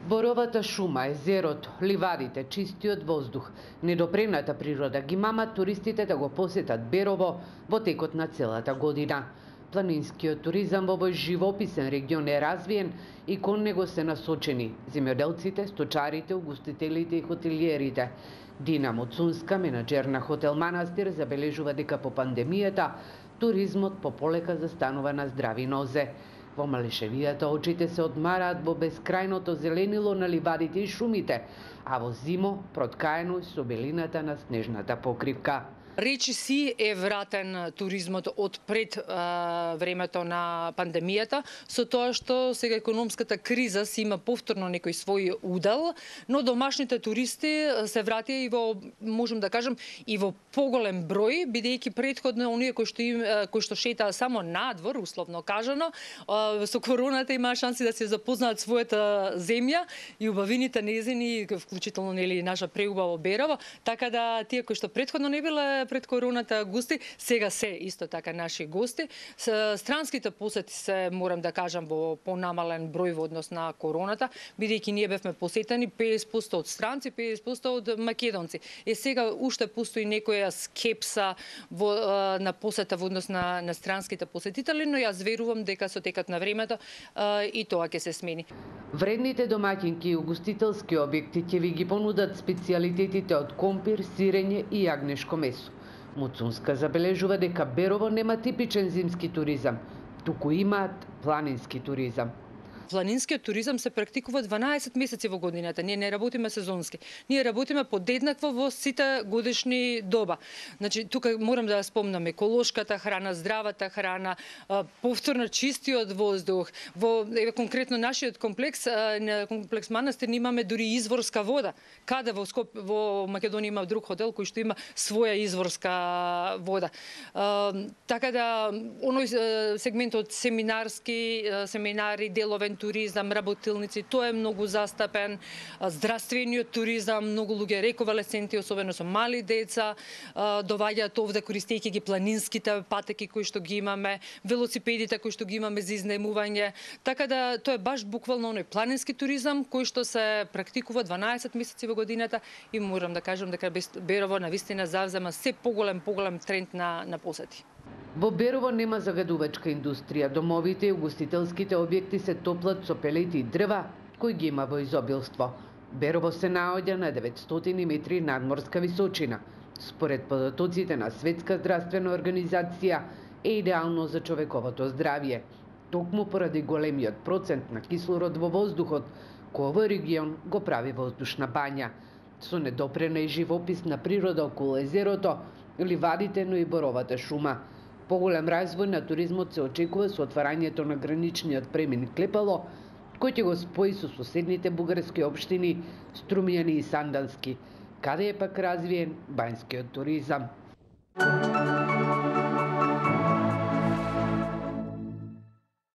Боровата шума, езерото, ливадите, чистиот воздух, недопрената природа ги мамат туристите да го посетат Берово во текот на целата година. Планинскиот туризам во овој живописен регион е развиен и кон него се насочени земјоделците, сточарите, угостителите и хотелиерите. Дина Моцунска, менаџер на хотел Манастир, забележува дека по пандемијата туризмот пополека застанува на здрави нозе. Во Малешевијата очите се одмараат во бескрајното зеленило на ливадите и шумите, а во зимо проткаено со белината на снежната покривка. Речиси е вратен туризмот од пред времето на пандемијата, со тоа што сега економската криза си има повторно некој свој удел, но домашните туристи се вратија и во, можем да кажем, и во поголем број, бидејќи претходно оние кои што шетаа само надвор, условно кажано, со короната имаа шанси да се запознаат својата земја и убавините незини, вклучително нели наша преубаво Берово, така да тие кои што претходно не биле пред короната гости, сега се исто така наши гости. Странските посети се, морам да кажам, во понамален број во однос на короната, бидејќи ние бевме посетени 50% од странци, 50% од македонци. Сега уште постои некоја скепса на посета во однос на странските посетители, но јас верувам дека со текот на времето и тоа ќе се смени. Вредните домаќинки и угостителски објекти ќе ви ги понудат специјалитетите од компир, сирење и јагнешко месо. Моцунска забележува дека Берово нема типичен зимски туризам, туку имаат планински туризам. Планинскиот туризам се практикува 12 месеци во годината. Ние не работиме сезонски. Ние работиме подеднакво во сите годишни доба. Значи, тука морам да спомнам еколошката храна, здравата храна, повторно чистиот воздух. Во конкретно нашиот комплекс Манастир, имаме дури изворска вода. Каде во Македонија има друг хотел кој што има своја изворска вода. Така да, оној сегмент од семинари, деловен туризам, работилници, тоа е многу застапен. Здравствениот туризам, многу луѓе рековалесценти, особено со мали деца, доваѓаат овде користејќи ги планинските патеки кои што ги имаме, велосипедите кои што ги имаме за изнемување. Така да тоа е баш буквално оној планински туризам кој што се практикува 12 месеци во годината и морам да кажам дека Берово навистина завзема се поголем тренд на посети. Во Берово нема загадувачка индустрија. Домовите и угостителските објекти се топлат со пелети и дрва, кои ги има во изобилство. Берово се наоѓа на 900 метри надморска височина. Според податоците на Светска здравствена организација е идеално за човековото здравје. Токму поради големиот процент на кислород во воздухот, кој овој регион го прави воздушна бања. Со недопрена и живописна природа околу езерото, ливадите, но и боровата шума. Поголем развој на туризмот се очекува со отварањето на граничниот премин Клепало, кој ќе го спои со соседните бугарски општини Струмјани и Сандански, каде е пак развиен бањскиот туризам.